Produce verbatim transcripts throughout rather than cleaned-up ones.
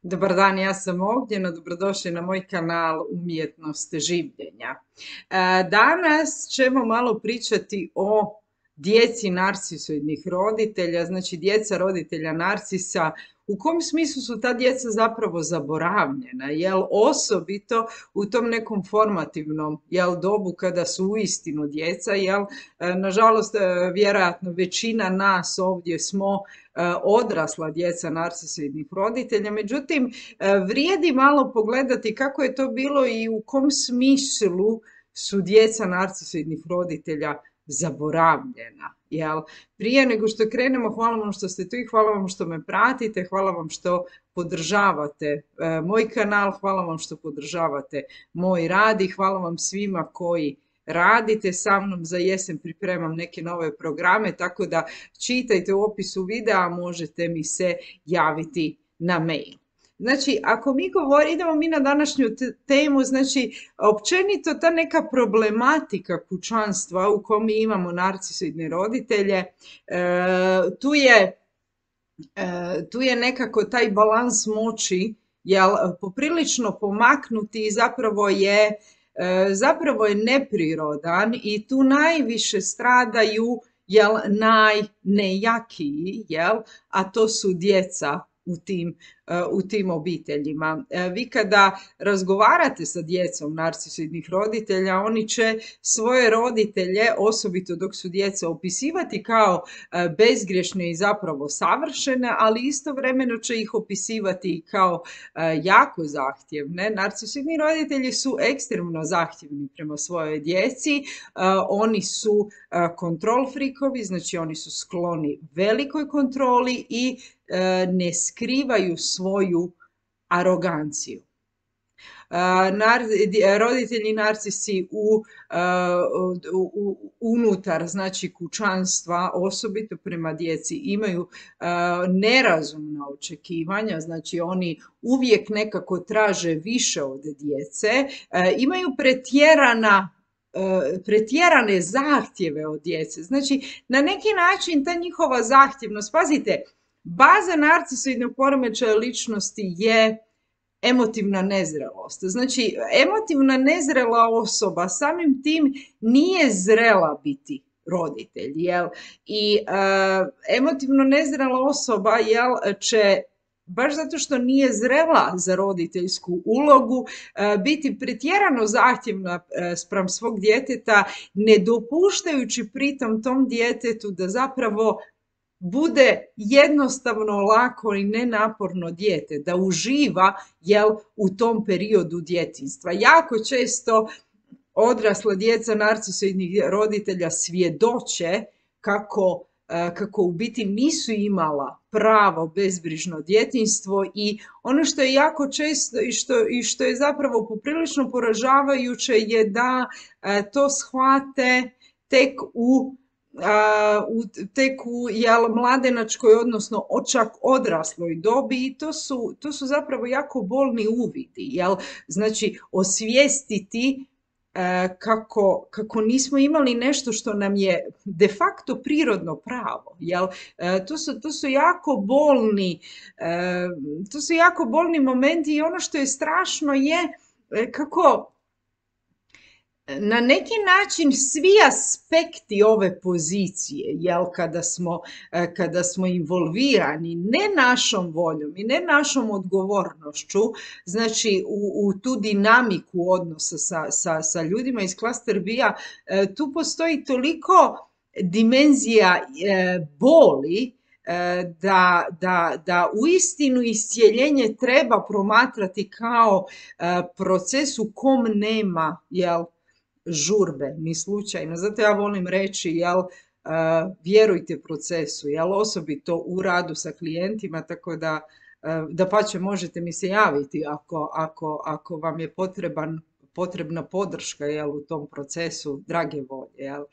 Dobar dan, ja sam Ognjena, dobrodošli na moj kanal Umjetnost življenja. E, Danas ćemo malo pričati o djeci narcisoidnih roditelja, znači djeca roditelja narcisa, u kom smislu su ta djeca zapravo zaboravljena, jel osobito u tom nekom formativnom jel dobu kada su uistinu djeca, jel e, nažalost e, vjerojatno većina nas ovdje smo e, odrasla djeca narcisoidnih roditelja, međutim e, vrijedi malo pogledati kako je to bilo i u kom smislu su djeca narcisoidnih roditelja zaboravljena. Jel? Prije nego što krenemo, hvala vam što ste tu i hvala vam što me pratite, hvala vam što podržavate e, moj kanal, hvala vam što podržavate moj rad i hvala vam svima koji radite sa mnom. Za jesen pripremam neke nove programe, tako da čitajte u opisu videa, možete mi se javiti na mail. Znači, ako mi govorimo, idemo mi na današnju temu, znači, općenito ta neka problematika kućanstva u kom mi imamo narcisoidne roditelje, e, tu je, e, tu je nekako taj balans moći, jel, poprilično pomaknuti i zapravo je, e, zapravo je neprirodan i tu najviše stradaju, jel, najnejakiji, jel, a to su djeca u tim, u tim obiteljima. Vi kada razgovarate sa djecom narcisoidnih roditelja, oni će svoje roditelje, osobito dok su djeca, opisivati kao bezgrešne i zapravo savršene, ali istovremeno će ih opisivati kao jako zahtjevne. Narcisoidni roditelji su ekstremno zahtjevni prema svojoj djeci, oni su kontrol frikovi, znači oni su skloni velikoj kontroli i ne skrivaju svoju aroganciju. Nar, roditelji narcisi u, u, unutar znači kućanstva, osobito prema djeci, imaju nerazumna očekivanja, znači oni uvijek nekako traže više od djece, imaju pretjerana pretjerane zahtjeve od djece. Znači, na neki način ta njihova zahtjevnost, pazite, baza narcisoidnog poremećaja ličnosti je emotivna nezrelost. Znači, emotivna nezrela osoba samim tim nije zrela biti roditelj, jel? I uh, emotivno nezrela osoba, jel, će baš zato što nije zrela za roditeljsku ulogu, biti pretjerano zahtjevna spram svog djeteta, ne dopuštajući pritom tom djetetu da zapravo bude jednostavno, lako i nenaporno dijete, da uživa, jel, u tom periodu djetinjstva. Jako često odrasla djeca narcisoidnih roditelja svjedoče kako kako u biti nisu imala pravo bezbrižno djetinjstvo i ono što je jako često i što, i što je zapravo poprilično poražavajuće je da to shvate tek u, u, tek u jel, mladenačkoj, odnosno čak odrasloj dobi i to su, to su zapravo jako bolni uvidi. Jel? Znači, osvijestiti Kako, kako nismo imali nešto što nam je de facto prirodno pravo. Jel? To su, to su jako bolni, to su jako bolni momenti i ono što je strašno je kako na neki način svi aspekti ove pozicije, jel, kada smo, kada smo involvirani ne našom voljom i ne našom odgovornošću, znači u, u tu dinamiku odnosa sa, sa, sa ljudima iz klaster B-a, tu postoji toliko dimenzija boli, da, da, da uistinu iscijeljenje treba promatrati kao proces u kom nema, jel, žurbe, ni slučajno. Zato ja volim reći, jel, uh, vjerujte procesu, jel, osobito u radu sa klijentima, tako da, uh, da pače možete mi se javiti ako, ako, ako vam je potreban, potrebna podrška, jel, u tom procesu, drage volje. Jel. Uh,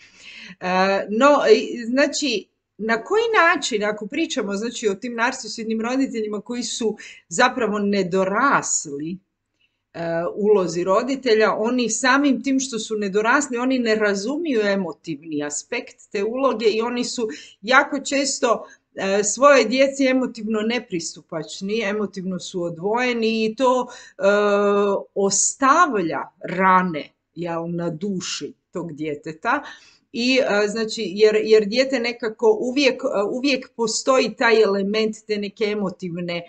no, znači, na koji način, ako pričamo, znači, o tim narcisoidnim roditeljima koji su zapravo nedorasli ulozi roditelja, oni samim tim što su nedorasli, oni ne razumiju emotivni aspekt te uloge i oni su jako često svoje djeci emotivno nepristupačni, emotivno su odvojeni i to e, ostavlja rane, jel, na duši tog djeteta. I znači, jer, jer dijete nekako uvijek, uvijek postoji taj element te neke emotivne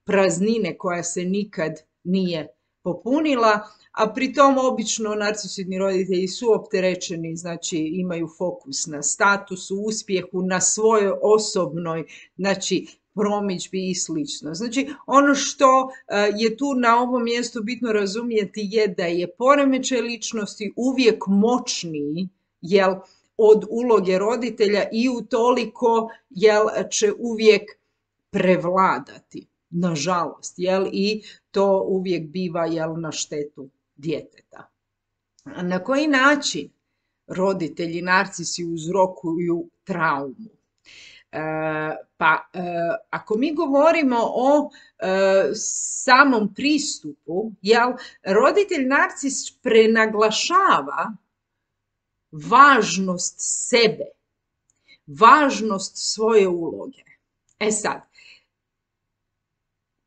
praznine koja se nikad nije popunila, a pritom obično narcisoidni roditelji su opterećeni, znači imaju fokus na statusu, uspjehu, na svojoj osobnoj, znači promidžbi i slično. Znači, ono što je tu na ovom mjestu bitno razumjeti je da je poremećaj ličnosti uvijek moćniji, jel, od uloge roditelja i utoliko, jel, će uvijek prevladati, nažalost, jel, i to uvijek biva, jel, na štetu djeteta. Na koji način roditelji narcisi uzrokuju traumu? E, pa, e, ako mi govorimo o e, samom pristupu, jel, roditelj narcis prenaglašava važnost sebe, važnost svoje uloge. E sad,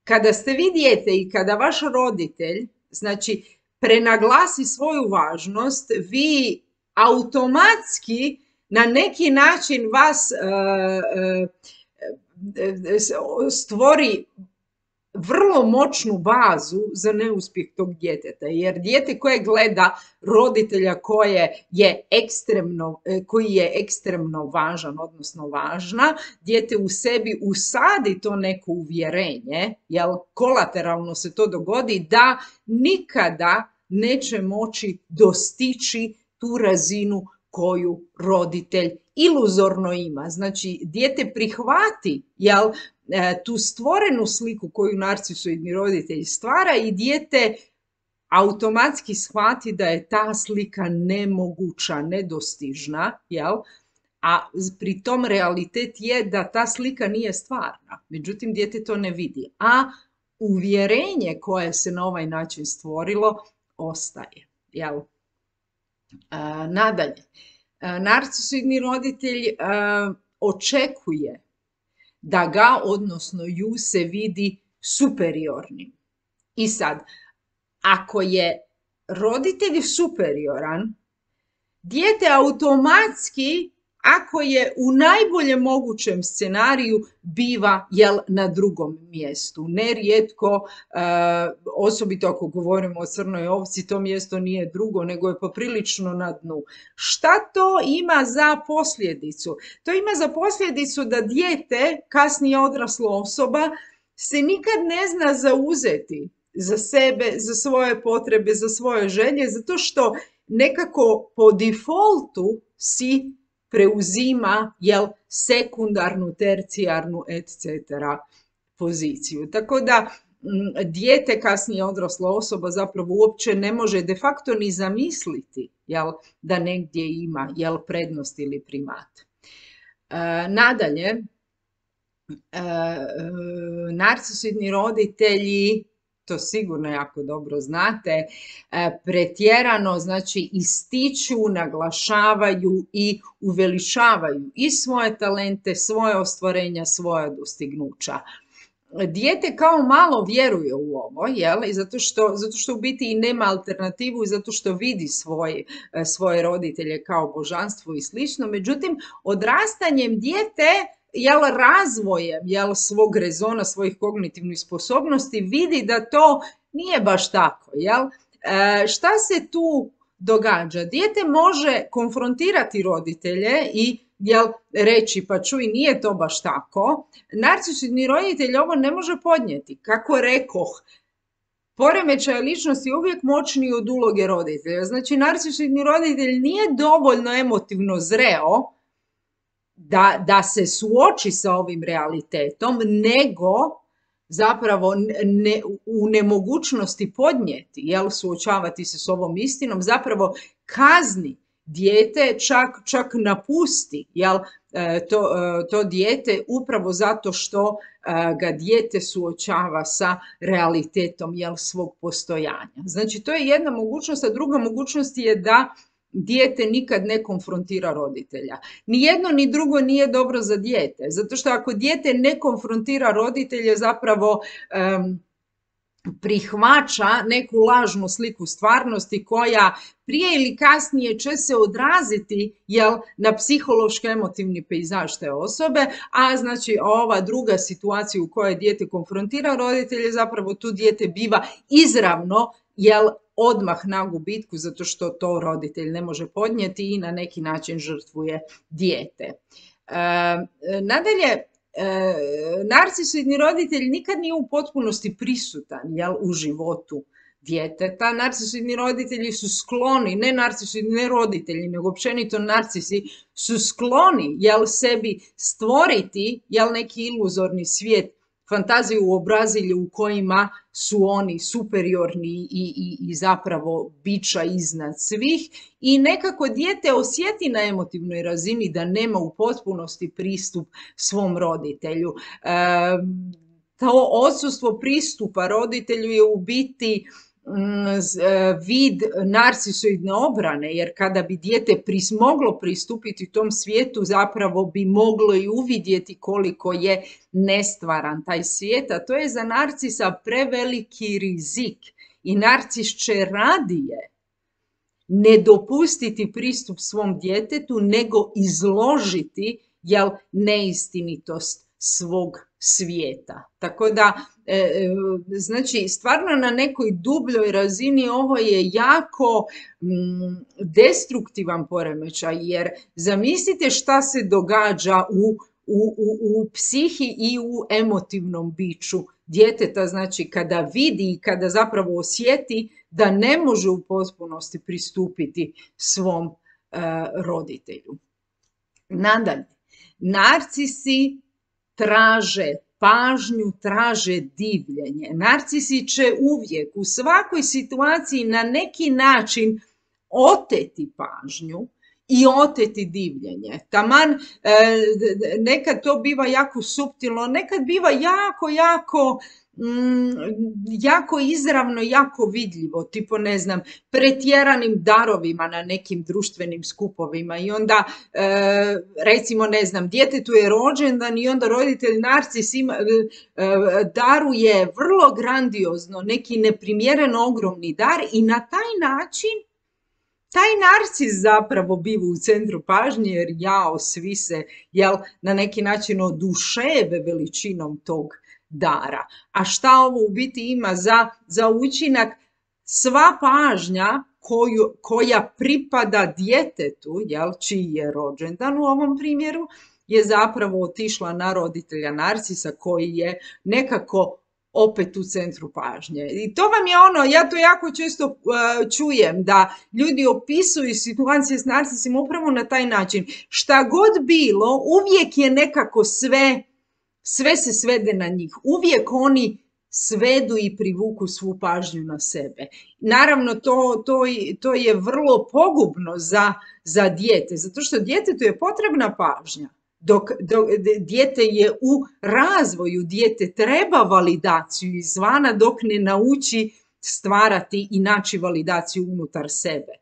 kada ste vi dijete i kada vaš roditelj, znači, prenaglasi svoju važnost, vi automatski na neki način vas uh, uh, stvori vrlo moćnu bazu za neuspjeh tog djeteta, jer dijete koje gleda roditelja koje je ekstremno, koji je ekstremno važan, odnosno važna, dijete u sebi usadi to neko uvjerenje, jel, kolateralno se to dogodi, da nikada neće moći dostići tu razinu koju roditelj iluzorno ima. Znači, dijete prihvati, jel, tu stvorenu sliku koju narcisoidni roditelj stvara i dijete automatski shvati da je ta slika nemoguća, nedostižna, jel? A pri tom realitet je da ta slika nije stvarna. Međutim, dijete to ne vidi. A uvjerenje koje se na ovaj način stvorilo ostaje, jel? A, nadalje, a, narcisoidni roditelj a, očekuje da ga, odnosno ju, se vidi superiornim. I sad, ako je roditelj superioran, dijete automatski, ako je u najboljem mogućem scenariju, biva, jel, na drugom mjestu. Nerijetko, e, osobito ako govorimo o crnoj ovci, to mjesto nije drugo, nego je poprilično na dnu. Šta to ima za posljedicu? To ima za posljedicu da dijete, kasnije odrasla osoba, se nikad ne zna zauzeti za sebe, za svoje potrebe, za svoje želje, zato što nekako po defaultu si preuzima, jel, sekundarnu, tercijarnu, et cetera poziciju. Tako da m, dijete, kasnije odrasla osoba, zapravo uopće ne može de facto ni zamisliti, jel, da negdje ima, jel, prednost ili primat. E, nadalje, e, narcisoidni roditelji, to sigurno jako dobro znate, pretjerano, znači, ističu, naglašavaju i uveličavaju i svoje talente, svoje ostvarenja, svoja dostignuća. Dijete kao malo vjeruje u ovo, jel? I zato što, zato što u biti i nema alternativu i zato što vidi svoj, svoje roditelje kao božanstvo i slično. Međutim, odrastanjem dijete, jel, razvojem, jel, svog rezona, svojih kognitivnih sposobnosti vidi da to nije baš tako, jel? E, šta se tu događa? Dijete može konfrontirati roditelje i, jel, reći, pa čuj, nije to baš tako. Narcisoidni roditelj ovo ne može podnijeti. Kako rekoh, poremećaj ličnosti je uvijek moćniji od uloge roditelja. Znači, narcisoidni roditelj nije dovoljno emotivno zreo Da, da se suoči sa ovim realitetom, nego zapravo ne, u nemogućnosti podnijeti, jel, suočavati se s ovom istinom, zapravo kazni dijete, čak, čak napusti, jel, to, to dijete upravo zato što ga dijete suočava sa realitetom, jel, svog postojanja. Znači, to je jedna mogućnost, a druga mogućnost je da dijete nikad ne konfrontira roditelja. Ni jedno ni drugo nije dobro za dijete, zato što ako dijete ne konfrontira roditelje, zapravo um, prihvaća neku lažnu sliku stvarnosti koja prije ili kasnije će se odraziti, jel, na psihološko-emotivni pejzaž te osobe, a znači ova druga situacija u kojoj dijete konfrontira roditelje, zapravo tu dijete biva izravno, jel, odmah na gubitku, zato što to roditelj ne može podnijeti i na neki način žrtvuje dijete. E, nadalje, E, narcisoidni roditelj nikad nije u potpunosti prisutan, jel, u životu djeteta. Narcisoidni roditelji su skloni, ne narcisoidni ne roditelji, nego općenito narcisi su skloni, jel, sebi stvoriti, jel, neki iluzorni svijet, fantaziju u obrazilju u kojima su oni superiorni i, i, i zapravo bića iznad svih, i nekako dijete osjeti na emotivnoj razini da nema u potpunosti pristup svom roditelju. E, to odsustvo pristupa roditelju je u biti vid narcisoidne obrane, jer kada bi dijete pris, moglo pristupiti tom svijetu, zapravo bi moglo i uvidjeti koliko je nestvaran taj svijet, a to je za narcisa preveliki rizik i narcis će radije ne dopustiti pristup svom djetetu nego izložiti, jel, neistinitost svog svijeta. Tako da, e, znači, stvarno na nekoj dubljoj razini ovo je jako mm, destruktivan poremećaj, jer zamislite šta se događa u, u, u, u psihi i u emotivnom biću djeteta, znači kada vidi i kada zapravo osjeti da ne može u potpunosti pristupiti svom e, roditelju. Nadalje, narcisi traže pažnju, traže divljenje. Narcisi će uvijek u svakoj situaciji na neki način oteti pažnju i oteti divljenje. Taman e, nekad to biva jako suptilno, nekad biva jako, jako Mm, jako izravno, jako vidljivo, tipo, ne znam, pretjeranim darovima na nekim društvenim skupovima i onda, e, recimo, ne znam, djetetu je rođendan i onda roditelj narcis ima, e, daruje vrlo grandiozno neki neprimjereno ogromni dar i na taj način taj narcis zapravo biva u centru pažnje, jer jao, svi se, jel, na neki način oduševe veličinom tog dara. A šta ovo u biti ima za, za učinak? Sva pažnja koju, koja pripada djetetu, jel, čiji je rođendan u ovom primjeru, je zapravo otišla na roditelja narcisa koji je nekako opet u centru pažnje. I to vam je ono, ja to jako često uh, čujem, da ljudi opisuju situacije s narcisima upravo na taj način. Šta god bilo, uvijek je nekako sve Sve se svede na njih. Uvijek oni svedu i privuku svu pažnju na sebe. Naravno, to, to, to je vrlo pogubno za, za dijete, zato što djetetu je potrebna pažnja. Dok, dok dijete je u razvoju, dijete treba validaciju izvana dok ne nauči stvarati i naći validaciju unutar sebe.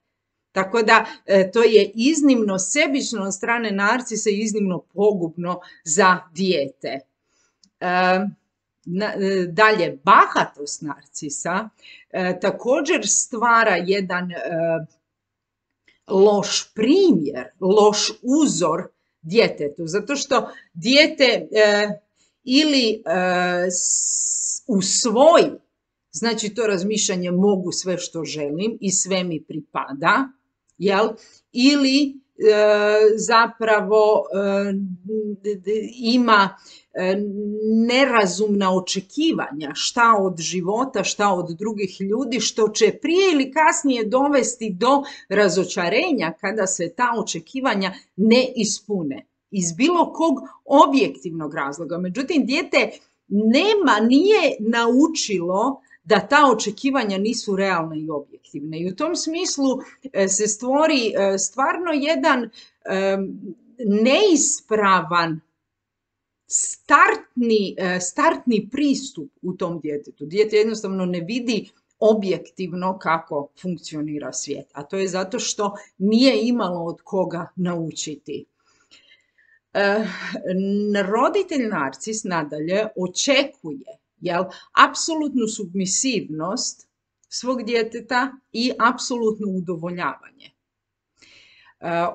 Tako da e, to je iznimno sebično od strane narcisa i iznimno pogubno za dijete. E, na, e, dalje, bahatost narcisa e, također stvara jedan e, loš primjer, loš uzor djetetu, zato što dijete e, ili e, s, usvoji, znači to razmišljanje mogu sve što želim i sve mi pripada, jel? Ili e, zapravo e, ima e, nerazumna očekivanja šta od života, šta od drugih ljudi, što će prije ili kasnije dovesti do razočarenja kada se ta očekivanja ne ispune. Iz bilo kog objektivnog razloga. Međutim, dijete nema, nije naučilo da ta očekivanja nisu realne i objektivne. I u tom smislu se stvori stvarno jedan neispravan startni, startni pristup u tom djetetu. Dijete jednostavno ne vidi objektivno kako funkcionira svijet. A to je zato što nije imalo od koga naučiti. E, roditelj narcis nadalje očekuje, jel, apsolutnu submisivnost svog djeteta i apsolutno udovoljavanje.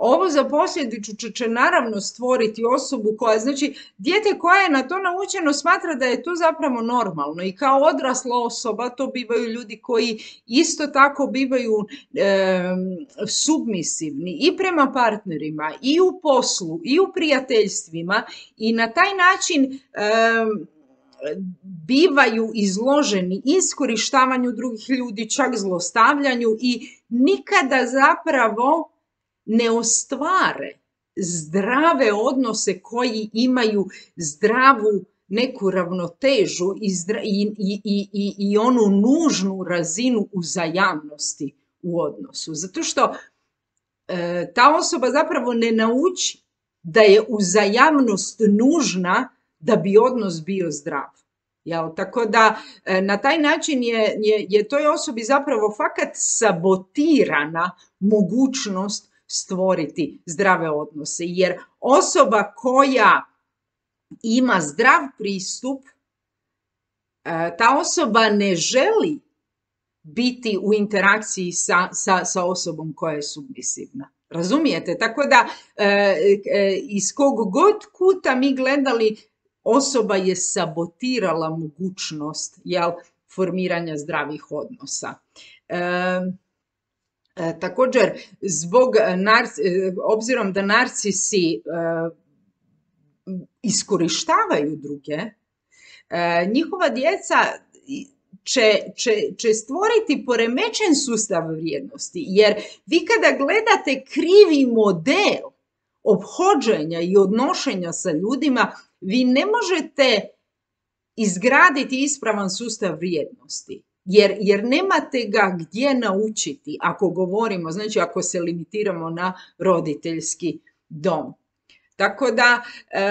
Ovo za posljedicu će, će naravno stvoriti osobu koja, znači, dijete koje je na to naučeno smatra da je to zapravo normalno i kao odrasla osoba to bivaju ljudi koji isto tako bivaju e, submisivni i prema partnerima i u poslu i u prijateljstvima i na taj način e, bivaju izloženi iskorištavanju drugih ljudi, čak zlostavljanju i nikada zapravo ne ostvare zdrave odnose koji imaju zdravu neku ravnotežu i, zdra, i, i, i, i onu nužnu razinu uzajamnosti u odnosu. Zato što e, ta osoba zapravo ne nauči da je uzajamnost nužna da bi odnos bio zdrav. Jel? Tako da e, na taj način je, je, je toj osobi zapravo fakat sabotirana mogućnost stvoriti zdrave odnose, jer osoba koja ima zdrav pristup, ta osoba ne želi biti u interakciji sa, sa, sa osobom koja je submisivna. Razumijete? Tako da iz kog god kuta mi gledali, osoba je sabotirala mogućnost, jel, formiranja zdravih odnosa. E, također, zbog narci, obzirom da narcisi e, iskorištavaju druge, e, njihova djeca će, će, će stvoriti poremećen sustav vrijednosti, jer vi kada gledate krivi model ophođenja i odnošenja sa ljudima, vi ne možete izgraditi ispravan sustav vrijednosti. Jer, jer nemate ga gdje naučiti ako govorimo, znači ako se limitiramo na roditeljski dom. Tako da, e,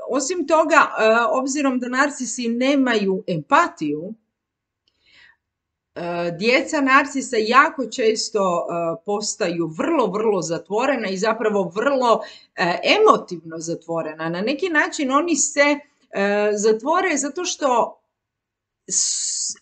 osim toga, e, obzirom da narcisi nemaju empatiju, e, djeca narcisa jako često e, postaju vrlo, vrlo zatvorena i zapravo vrlo e, emotivno zatvorena. Na neki način oni se e, zatvore zato što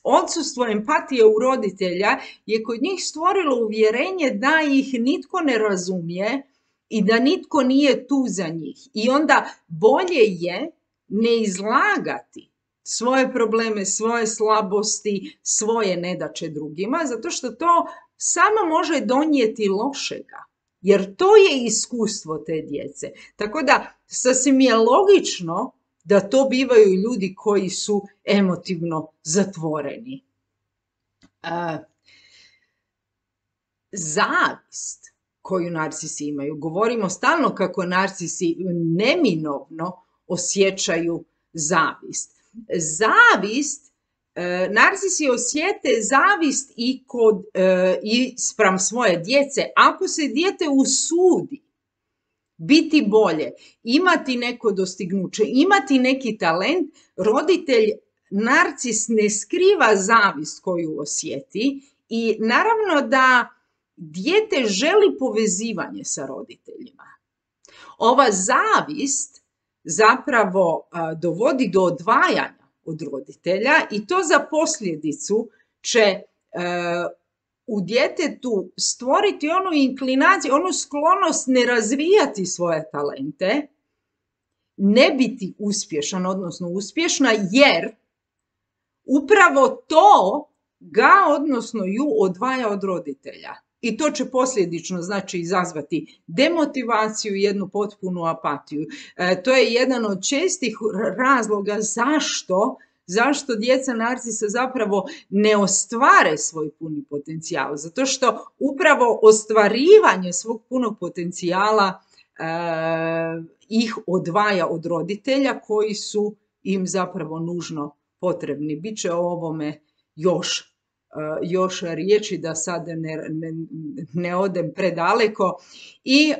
odsustvo empatije u roditelja je kod njih stvorilo uvjerenje da ih nitko ne razumije i da nitko nije tu za njih. I onda bolje je ne izlagati svoje probleme, svoje slabosti, svoje nedaće drugima, zato što to samo može donijeti lošega. Jer to je iskustvo te djece. Tako da sasvim je logično da to bivaju ljudi koji su emotivno zatvoreni. E, zavist koju narcisi imaju, govorimo stalno kako narcisi neminovno osjećaju zavist. Zavist, e, narcisi osjete zavist i, kod, e, i spram svoje djece. Ako se dijete usudi biti bolje, imati neko dostignuće, imati neki talent, roditelj narcis ne skriva zavist koju osjeti i naravno da dijete želi povezivanje sa roditeljima. Ova zavist zapravo a, dovodi do odvajanja od roditelja i to za posljedicu će a, u djetetu stvoriti onu inklinaciju, onu sklonost ne razvijati svoje talente, ne biti uspješan, odnosno uspješna, jer upravo to ga, odnosno ju, odvaja od roditelja. I to će posljedično, znači, izazvati demotivaciju i jednu potpunu apatiju. E, to je jedan od čestih razloga zašto Zašto djeca narcisa zapravo ne ostvare svoj puni potencijal? Zato što upravo ostvarivanje svog punog potencijala e, ih odvaja od roditelja koji su im zapravo nužno potrebni. Biće o ovome još, e, još riječi da sad ne, ne, ne odem predaleko. I e,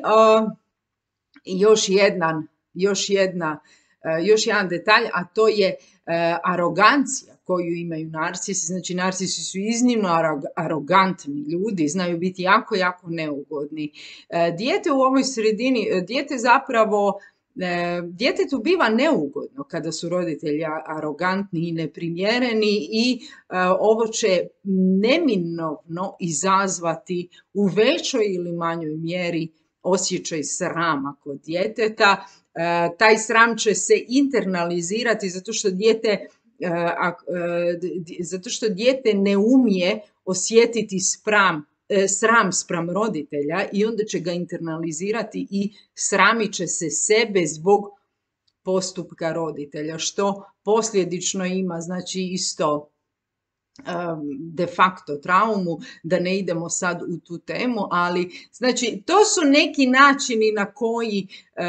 još jedan, još jedna, e, još jedan detalj, a to je arogancija koju imaju narcisi. Znači, narcisi su iznimno arogantni ljudi, znaju biti jako, jako neugodni. Dijete u ovoj sredini, dijete zapravo, djetetu biva neugodno kada su roditelji arogantni i neprimjereni i ovo će neminovno izazvati u većoj ili manjoj mjeri osjećaj srama kod djeteta. Taj sram će se internalizirati zato što dijete, zato što dijete ne umije osjetiti spram, sram spram roditelja i onda će ga internalizirati i sramit će se sebe zbog postupka roditelja, što posljedično ima znači isto de facto traumu, da ne idemo sad u tu temu, ali znači to su neki načini na koji e,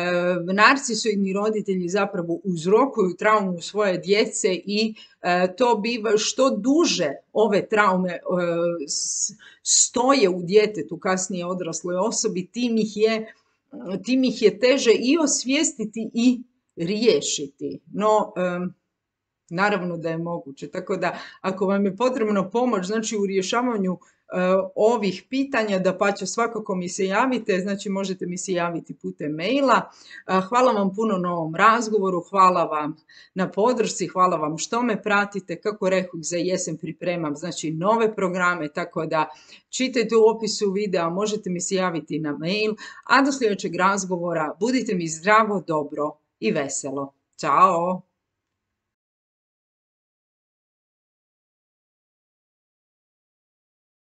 narcisoidni roditelji zapravo uzrokuju traumu svoje djece i e, to biva što duže ove traume e, stoje u djetetu, kasnije odrasloj osobi, tim ih je, tim ih je teže i osvijestiti i riješiti. No, e, naravno da je moguće, tako da ako vam je potrebno pomoć znači u rješavanju uh, ovih pitanja, dapače svakako mi se javite, znači možete mi se javiti putem maila. Uh, hvala vam puno na ovom razgovoru, hvala vam na podršci, hvala vam što me pratite, kako rekoh za jesen pripremam znači nove programe, tako da čitajte u opisu videa, možete mi se javiti na mail, a do sljedećeg razgovora budite mi zdravo, dobro i veselo. Ćao!